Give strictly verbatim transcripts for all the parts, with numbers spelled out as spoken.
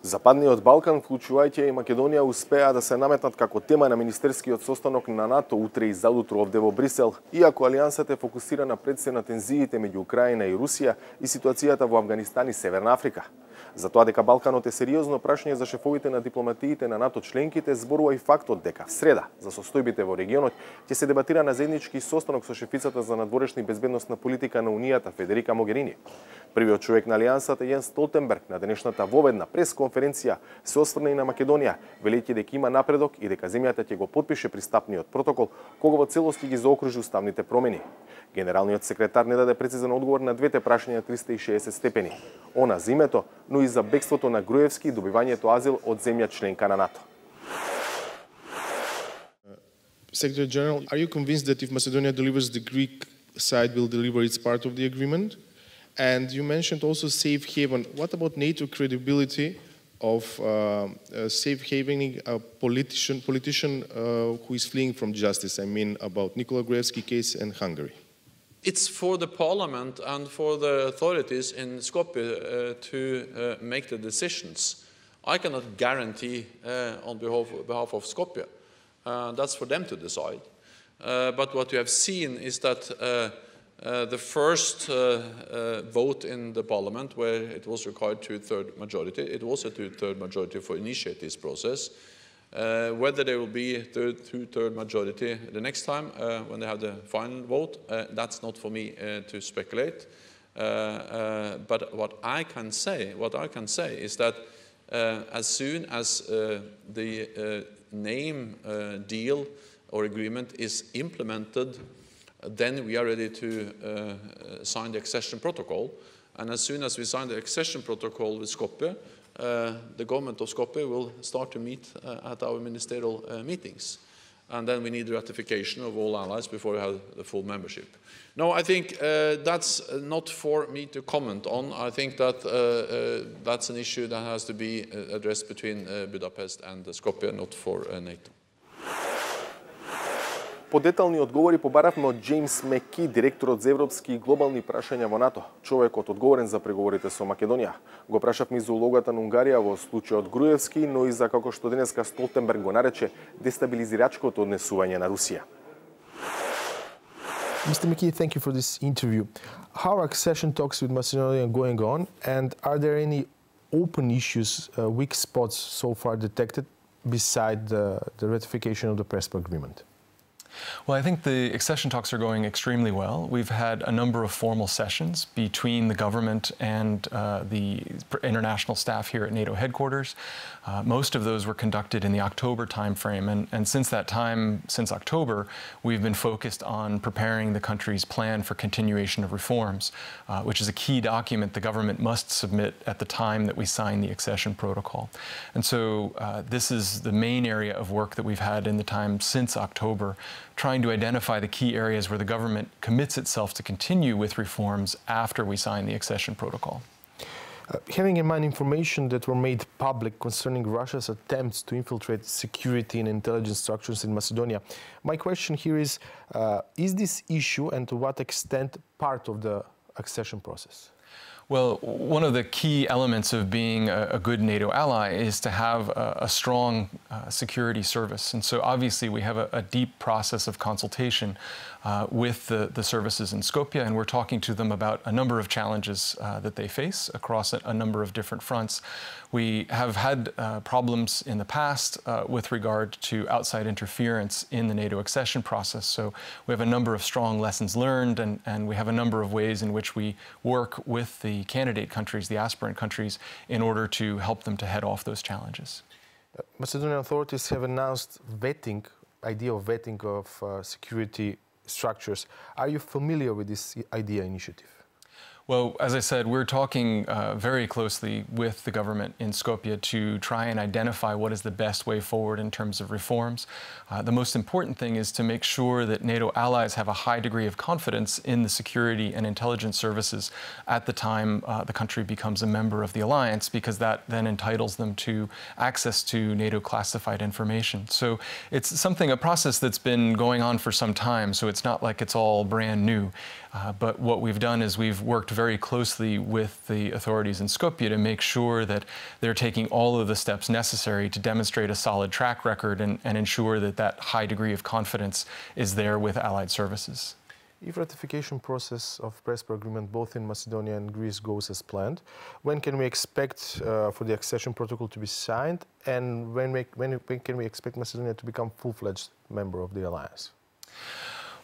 Западниот Балкан, вклучувајќи и Македонија, успеа да се наметнат како тема на министерскиот состанок на НАТО утре и заутро овде во Брисел, иако алијансата е фокусирана пред се на тензиите меѓу Украина и Русија и ситуацијата во Авганистан и Северна Африка. За тоа дека Балканот е сериозно прашање за шефовите на дипломатиите на НАТО членките, зборува и фактот дека в среда за состојбите во регионот ќе се дебатира на заеднички состанок со шефицата за надворешна и безбедносна политика на Унијата Федерика Могерини. Првиот човек на алијансата Јенс Столтенберг на денешната воведна пресконференција се осврна и на Македонија, велејќи дека има напредок и дека земјата ќе го потпише пристапниот протокол кога во целост ги заокружи уставните промени. Генералниот секретар не даде прецизен одговор на двете прашања триста и шеесет степени. Она за името, но и за бегството на Груевски и добивањето азил од земја членка на НАТО. Secretary General, are you convinced that if Macedonia delivers, the Greek side will deliver its part of the agreement? And you mentioned also safe haven. What about NATO credibility of uh, uh, safe havening a politician, politician uh, who is fleeing from justice? I mean about Nikola Gruevski case in Hungary. It's for the parliament and for the authorities in Skopje uh, to uh, make the decisions. I cannot guarantee uh, on behalf, behalf of Skopje. Uh, that's for them to decide. Uh, but what you have seen is that uh, uh, the first uh, uh, vote in the parliament, where it was required two-third majority, it was a two-third majority for initiate this process. Uh, whether there will be a two-third majority the next time uh, when they have the final vote, uh, that's not for me uh, to speculate. Uh, uh, but what I can say, what I can say is that uh, as soon as uh, the uh, name uh, deal or agreement is implemented, then we are ready to uh, sign the accession protocol. And as soon as we sign the accession protocol with Skopje, Uh, the government of Skopje will start to meet uh, at our ministerial uh, meetings. And then we need ratification of all allies before we have the full membership. No, I think uh, that's not for me to comment on. I think that uh, uh, that's an issue that has to be uh, addressed between uh, Budapest and Skopje, not for uh, NATO. Подетални одговори побаравме од Джеймс Меки, директорот за европски и глобални прашања во НАТО, човекот одговорен за преговорите со Македонија. Го прашавме за улогата на Унгарија во случајот Груевски, но и за како што денеска Столтенберг го нарече дестабилизирачкото однесување на Русија. Mister McKee, thank you for this interview. How are accession talks with Macedonia going on, and are there any open issues, uh, weak spots so far detected beside the, the ratification of the Prespa agreement? Well, I think the accession talks are going extremely well. We've had a number of formal sessions between the government and uh, the international staff here at NATO headquarters. Uh, most of those were conducted in the October timeframe, and, and since that time, since October, we've been focused on preparing the country's plan for continuation of reforms, uh, which is a key document the government must submit at the time that we sign the accession protocol. And so uh, this is the main area of work that we've had in the time since October, trying to identify the key areas where the government commits itself to continue with reforms after we sign the accession protocol. Uh, having in mind information that were made public concerning Russia's attempts to infiltrate security and intelligence structures in Macedonia, my question here is, uh, is this issue and to what extent part of the accession process? Well, one of the key elements of being a, a good NATO ally is to have a, a strong uh, security service. And so obviously we have a, a deep process of consultation uh, with the, the services in Skopje, and we're talking to them about a number of challenges uh, that they face across a, a number of different fronts. We have had uh, problems in the past uh, with regard to outside interference in the NATO accession process. So we have a number of strong lessons learned, and, and we have a number of ways in which we work with the candidate countries, the aspirant countries, in order to help them to head off those challenges. Uh, Macedonian authorities have announced vetting, idea of vetting of uh, security structures. Are you familiar with this idea initiative? Well, as I said, we're talking uh, very closely with the government in Skopje to try and identify what is the best way forward in terms of reforms. Uh, the most important thing is to make sure that NATO allies have a high degree of confidence in the security and intelligence services at the time uh, the country becomes a member of the alliance, because that then entitles them to access to NATO classified information. So it's something, a process that's been going on for some time, so it's not like it's all brand new. Uh, but what we've done is we've worked very closely with the authorities in Skopje to make sure that they're taking all of the steps necessary to demonstrate a solid track record and, and ensure that that high degree of confidence is there with allied services. If ratification process of Prespa agreement both in Macedonia and Greece goes as planned, when can we expect uh, for the accession protocol to be signed, and when, we, when, when can we expect Macedonia to become full-fledged member of the alliance?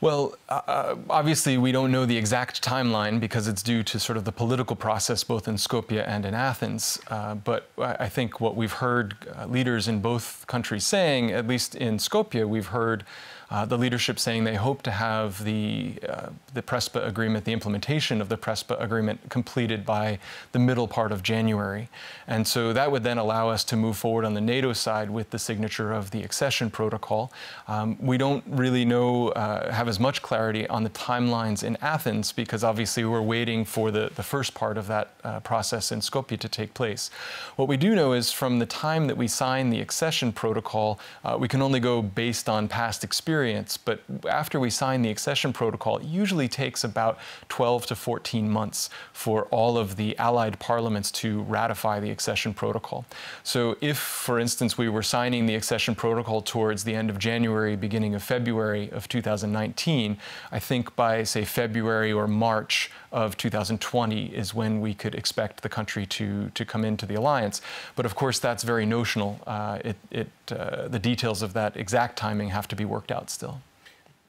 Well, uh, obviously we don't know the exact timeline because it's due to sort of the political process both in Skopje and in Athens. Uh, but I think what we've heard uh, leaders in both countries saying, at least in Skopje, we've heard uh, the leadership saying they hope to have the, uh, the Prespa agreement, the implementation of the Prespa agreement completed by the middle part of January. And so that would then allow us to move forward on the NATO side with the signature of the accession protocol. Um, we don't really know, uh, have as much clarity on the timelines in Athens because obviously we're waiting for the, the first part of that uh, process in Skopje to take place. What we do know is from the time that we sign the accession protocol, uh, we can only go based on past experience, but after we sign the accession protocol, it usually takes about twelve to fourteen months for all of the allied parliaments to ratify the accession protocol. So if, for instance, we were signing the accession protocol towards the end of January, beginning of February of two thousand nineteen, I think by, say, February or March of two thousand twenty is when we could expect the country to, to come into the alliance. But of course, that's very notional. Uh, it, it, uh, the details of that exact timing have to be worked out still.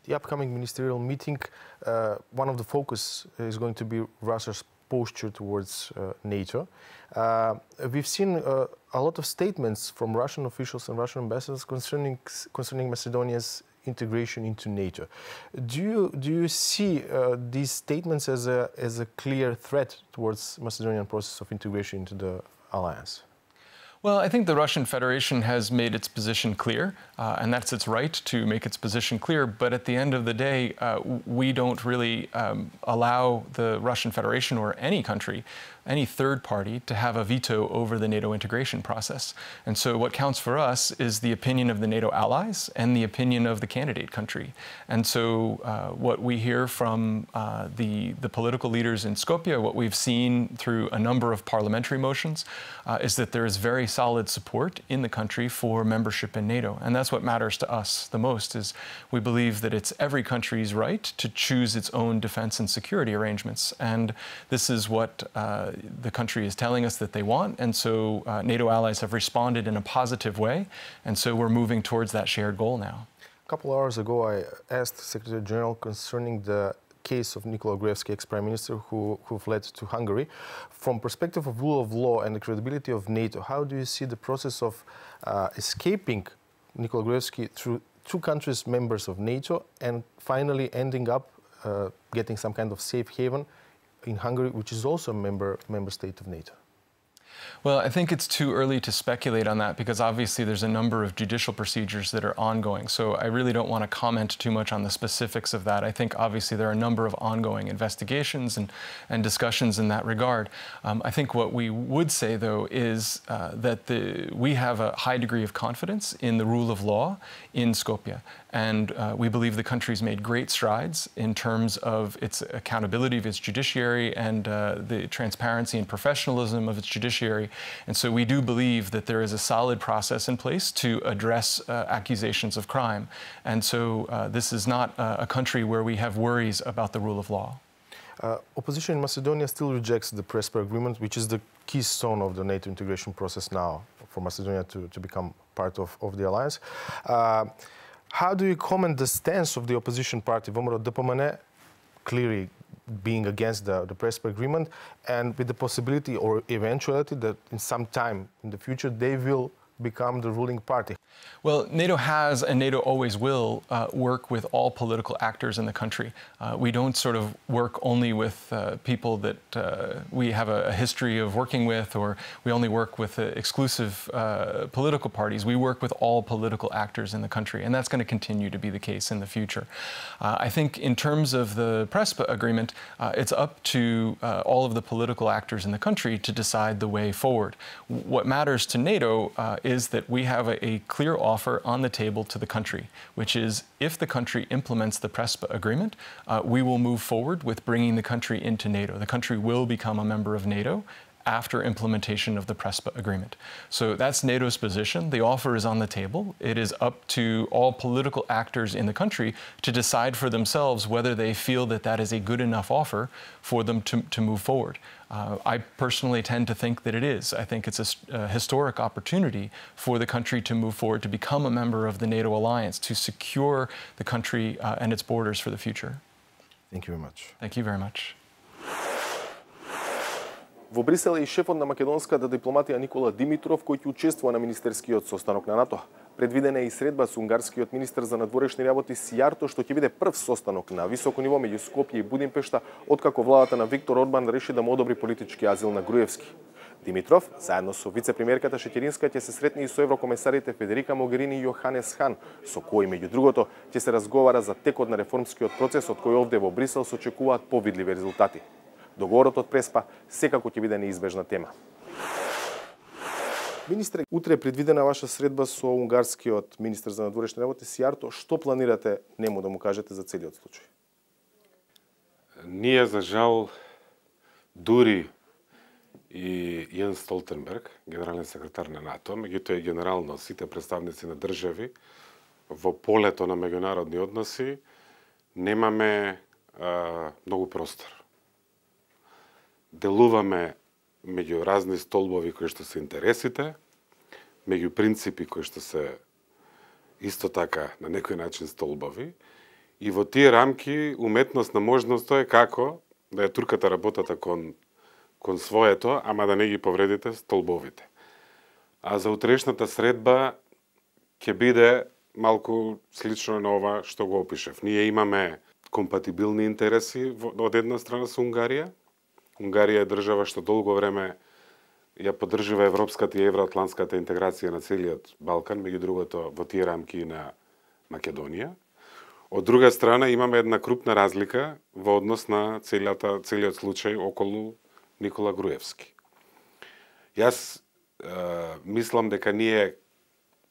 The upcoming ministerial meeting, uh, one of the focus is going to be Russia's posture towards uh, NATO. Uh, we've seen uh, a lot of statements from Russian officials and Russian ambassadors concerning, concerning Macedonia's integration into NATO. Do you, do you see uh, these statements as a, as a clear threat towards Macedonian process of integration into the alliance? Well, I think the Russian Federation has made its position clear, uh, and that's its right to make its position clear. But at the end of the day, uh, we don't really um, allow the Russian Federation or any country, any third party, to have a veto over the NATO integration process. And so what counts for us is the opinion of the NATO allies and the opinion of the candidate country. And so uh, what we hear from uh, the, the political leaders in Skopje, what we've seen through a number of parliamentary motions, uh, is that there is very solid support in the country for membership in NATO. And that's what matters to us the most, is we believe that it's every country's right to choose its own defense and security arrangements. And this is what uh, the country is telling us that they want. And so uh, NATO allies have responded in a positive way. And so we're moving towards that shared goal now. A couple of hours ago, I asked Secretary General concerning the case of Nikola Gruevski, ex-prime minister, who, who fled to Hungary. From perspective of rule of law and the credibility of NATO, how do you see the process of uh, escaping Nikola Gruevski through two countries members of NATO and finally ending up uh, getting some kind of safe haven in Hungary, which is also a member, member state of NATO? Well, I think it's too early to speculate on that because obviously there's a number of judicial procedures that are ongoing. So I really don't want to comment too much on the specifics of that. I think obviously there are a number of ongoing investigations and, and discussions in that regard. Um, I think what we would say, though, is uh, that the, we have a high degree of confidence in the rule of law in Skopje. And uh, we believe the country's made great strides in terms of its accountability of its judiciary and uh, the transparency and professionalism of its judiciary. And so we do believe that there is a solid process in place to address uh, accusations of crime. And so uh, this is not uh, a country where we have worries about the rule of law. Uh, opposition in Macedonia still rejects the Prespa agreement, which is the keystone of the NATO integration process now for Macedonia to, to become part of, of the alliance. Uh, How do you comment the stance of the opposition party, ВМРО ДПМН, clearly being against the, the Prespa agreement, and with the possibility or eventuality that in some time in the future they will become the ruling party? Well, NATO has and NATO always will uh, work with all political actors in the country. Uh, we don't sort of work only with uh, people that uh, we have a, a history of working with, or we only work with uh, exclusive uh, political parties. We work with all political actors in the country, and that's going to continue to be the case in the future. Uh, I think in terms of the Prespa agreement, uh, it's up to uh, all of the political actors in the country to decide the way forward. What matters to NATO uh, is that we have a, a clear offer on the table to the country, which is if the country implements the PRESPA agreement, uh, we will move forward with bringing the country into NATO. The country will become a member of NATO after implementation of the PRESPA agreement. So that's NATO's position. The offer is on the table. It is up to all political actors in the country to decide for themselves whether they feel that that is a good enough offer for them to, to move forward. Uh, I personally tend to think that it is. I think it's a, a historic opportunity for the country to move forward, to become a member of the NATO alliance, to secure the country uh, and its borders for the future. Thank you very much. Thank you very much. Во Брисел е и шефот на македонската дипломатија Никола Димитров, кој ќе учествува на министерскиот состанок на НАТО. Предвидена е и средба со унгарскиот министер за надворешни работи Сијарто, што ќе биде прв состанок на високо ниво меѓу Скопје и Будимпешта, откако владата на Виктор Орбан реши да му одобри политички азил на Груевски. Димитров, заедно со вице-премиерката Шеќеринска, ќе се сретне и со еврокомесарите Федерика Могерини и Јоханес Хан, со кои, меѓу другото, ќе се разговара за текот на реформскиот процес, од кој овде во Брисел се очекуваат повидливи резултати. Договорот од Преспа секако ќе биде неизбежна тема. Министре, утре е предвидена ваша средба со унгарскиот министер за надворешни работи Сијарто. Што планирате нему да му кажете за целиот случај? Ние, за жал, дури и Јенс Столтенберг, генерален секретар на НАТО, меѓутоа и генерално сите представници на држави во полето на меѓународни односи, немаме а, многу простор. Делуваме меѓу разни столбови кои што се интересите, меѓу принципи кои што се исто така на некој начин столбови, и во тие рамки уметност на можноста е како да ја туркате работата кон, кон своето, ама да не ги повредите столбовите. А за утрешната средба ќе биде малку слично на ова што го опишев. Ние имаме компатибилни интереси од една страна со Унгарија. Унгарија е држава што долго време ја поддржува европската и евроатлантската интеграција на целиот Балкан, меѓу другото во тие рамки на Македонија. Од друга страна имаме една крупна разлика во однос на целиот, целиот случај околу Никола Груевски. Јас е, мислам дека ние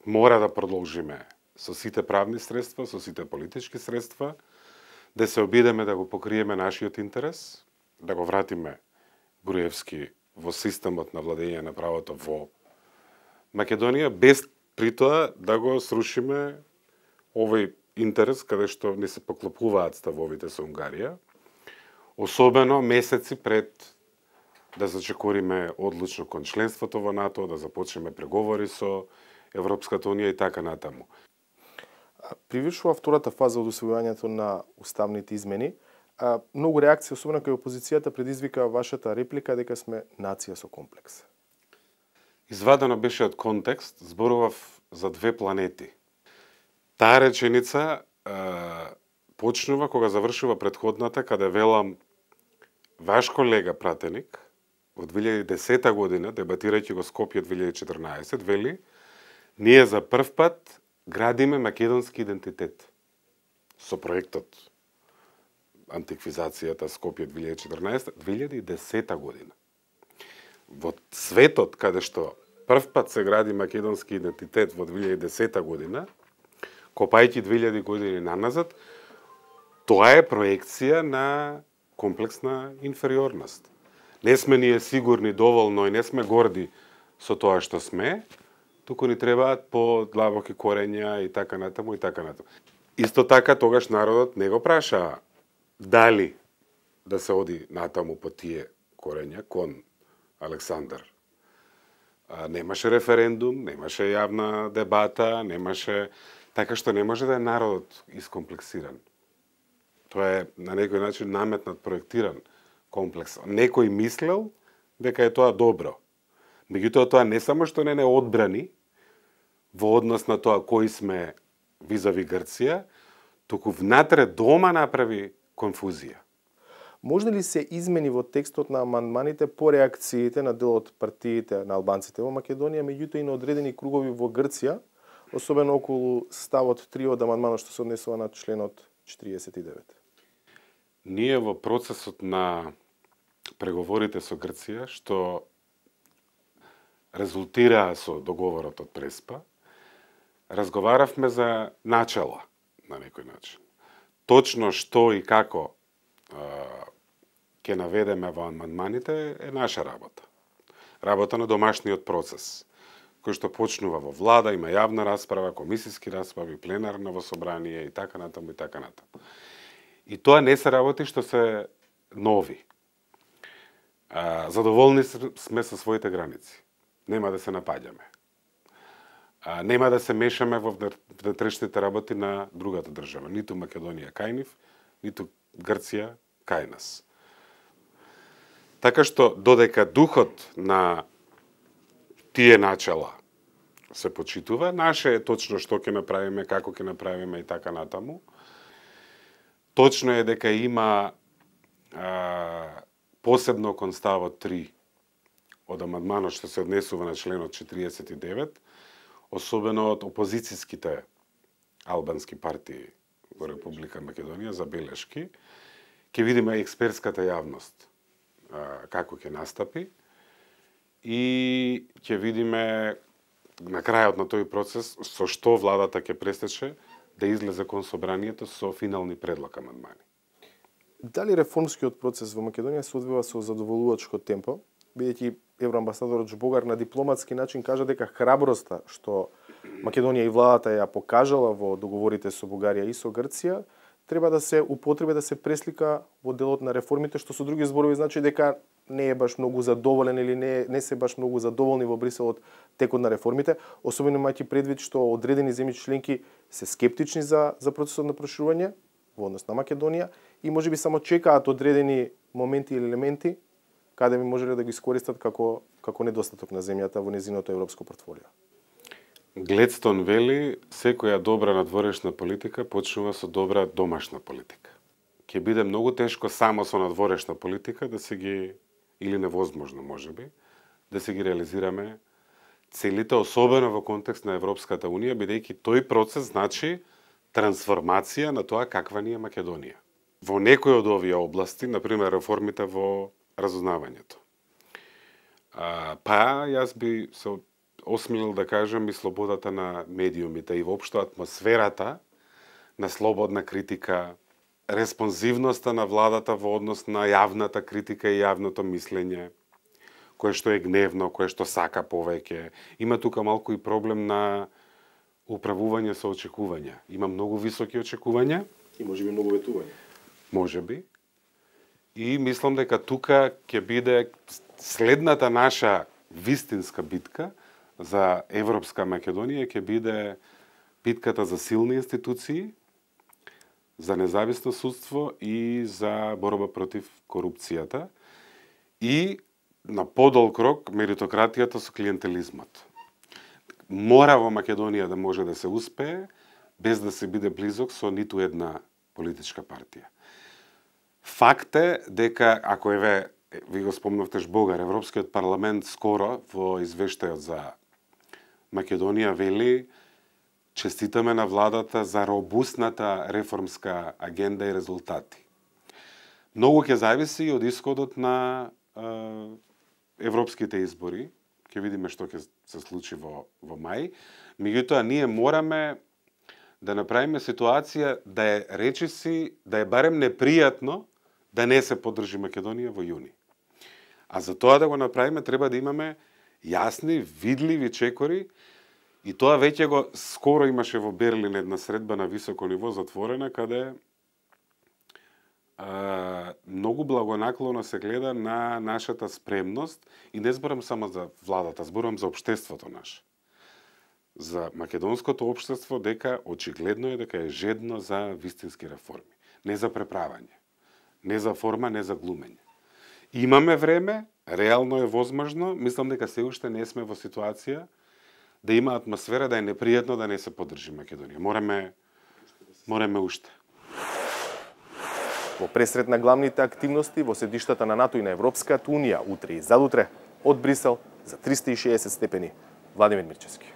мора да продолжиме со сите правни средства, со сите политички средства, да се обидеме да го покриеме нашиот интерес, да го вратиме Груевски во системот на владење на правото во Македонија, без при тоа да го срушиме овој интерес каде што не се поклопуваат ставовите со Унгарија, особено месеци пред да зачекориме одлучно кон членството во НАТО, да започнеме преговори со Европската Унија и така натаму. Привршува втората фаза од усвојувањето на уставните измени. А, многу реакции, особено кај опозицијата, предизвика вашата реплика дека сме нација со комплекс. Извадено беше од контекст, зборував за две планети. Таа реченица е, почнува кога завршува предходната, каде велам ваш колега пратеник во две илјади и десета година, дебатирајќи го Скопје две илјади и четрнаесет, вели ние за прв пат градиме македонски идентитет со проектот антиквизацијата Скопје две илјади и четрнаесета, две илјади и десета година. Во светот каде што прв пат се гради македонски идентитет во две илјади и десета година, копајќи две илјади години наназад, тоа е проекција на комплексна инфериорност. Не сме ние сигурни доволно и не сме горди со тоа што сме, туку ни требаат по-длабоки корења и така натаму и така натаму. Исто така тогаш народот не го праша дали да се оди натаму по тие корења кон Александар. А, немаше референдум, немаше јавна дебата, немаше, така што не може да е народот искомплексиран. Тоа е на некој начин наметнат, проектиран комплекс. Некој мислел дека е тоа добро. Меѓутоа тоа не само што не не одбрани во однос на тоа кои сме визави Грција, туку внатре дома направи конфузија. Може ли се измени во текстот на амандманите по реакциите на дел од партиите на албанците во Македонија, меѓутоа и на одредени кругови во Грција, особено околу ставот три од амандманот што се однесува на членот четиридесет и девет? Ние во процесот на преговорите со Грција, што резултираа со договорот од Преспа, разговаравме за начала на некој начин. Точно што и како ќе наведеме во амандманите е наша работа. Работа на домашниот процес, кој што почнува во влада, има јавна расправа, комисиски расправи, пленарно во собрание и така натаму и така натаму. И тоа не се работи што се нови. Задоволни сме со своите граници. Нема да се напаѓаме. Нема да се мешаме во внатрешните работи на другата држава. Ниту Македонија кај нив, ниту Грција кај нас. Така што, додека духот на тие начала се почитува, наше е точно што ќе направиме, како ќе направиме и така натаму. Точно е дека има а, посебно кон ставот три од амандманот што се однесува на членот четириесет и девет, особено од опозицијските албански партии во Република Македонија за белешки, ќе видиме експертската јавност а, како ќе настапи и ќе видиме на крајот на тој процес со што владата ќе престече да излезе кон собранието со финални предлог амандмани. Дали реформскиот процес во Македонија се одвива со задоволувачко темпо, бидејќи евроамбасадорот Жбогар на дипломатски начин кажа дека храброста што Македонија и владата ја покажала во договорите со Бугарија и со Грција треба да се употреби да се преслика во делот на реформите, што со други зборови значи дека не е баш многу задоволен или не, не се баш многу задоволни во Брисел од текот на реформите, особено имајќи предвид што одредени земји членки се скептични за, за процесот на проширување во однос на Македонија и можеби само чекаат одредени моменти или елементи каде би можеле да ги искористат како, како недостаток на земјата во незиното европско портфолио. Гледстон вели, секоја добра надворешна политика почнува со добра домашна политика. Ќе биде многу тешко само со надворешна политика да се ги, или невозможно можеби, да се ги реализираме целите, особено во контекст на Европската Унија, бидејќи тој процес значи трансформација на тоа каква ни е Македонија. Во некои од овие области, например реформите во разузнавањето. А, па, јас би се осмелил да кажам и слободата на медиумите и воопшто атмосферата на слободна критика, респонзивноста на владата во однос на јавната критика и јавното мислење, кое што е гневно, кое што сака повеќе. Има тука малку и проблем на управување со очекувања. Има многу високи очекувања. И можеби многу ветување. Можеби. И мислам дека тука ќе биде следната наша вистинска битка за Европска Македонија, ќе биде битката за силни институции, за независно судство и за борба против корупцијата и на подолг рок меритократијата со клиентелизмот. Мора во Македонија да може да се успее без да се биде близок со ниту една политичка партија. Факт е дека, ако еве, ви го спомнавте Жбогар, Европскиот парламент скоро во извештајот за Македонија вели честитаме на владата за робусната реформска агенда и резултати. Многу ќе зависи од исходот на е, европските избори. Ќе видиме што ќе се случи во, во мај. Меѓутоа, ние мораме да направиме ситуација да е речиси, да е барем непријатно да не се поддржи Македонија во јуни. А за тоа да го направиме треба да имаме јасни, видливи чекори и тоа веќе го скоро имаше во Берлин една средба на високо ниво затворена каде а, многу благонаклоно се гледа на нашата спремност и не зборам само за владата, зборам за општеството наше. За македонското општество дека очигледно е дека е жедно за вистински реформи, не за преправање, не за форма, не за глумење. Имаме време, реално е возможно, мислам дека се уште не сме во ситуација да има атмосфера да е непријатно да не се поддржи Македонија. Мораме, мораме уште. Во пресред на главните активности во седиштата на НАТО и на Европската Унија утре и задутре од Брисел за триста и шеесет степени. Владимир Мирчевски.